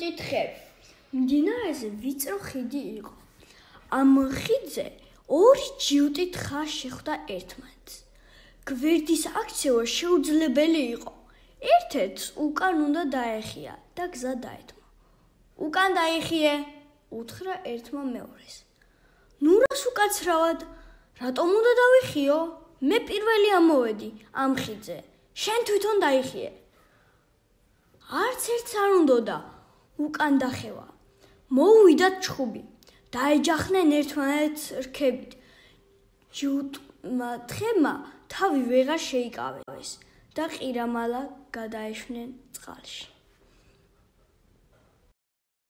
ჯიუტი თხე. მდინარეზე ვიწრო ხიდი იყო. ამ ხიდზე ორი ჯიუტი თხა შეხვდა ერთმანეთს. გვერდის აქცევა შეუძლებელი იყო. ერთ-ერთს უკან უნდა დაეხია და გზა დაეთმო. უკან დაიხიე, უთხრა ერთმა მეორეს. ნუ რას უკაცრავად, რატომ უნდა დავიხიო? მე პირველი ამოვედი ამ ხიდზე. შენ თვითონ დაიხიე. არც ერთს არ უნდოდა უკან დახევა. მოუვიდათ ჩხუბი. დაეჯახნენ ერთმანეთს რქებით. ჯიუტმა თხემმა თავი ვეღარ შეიკავეს და ყირამალა გადაეშვნენ წყალში.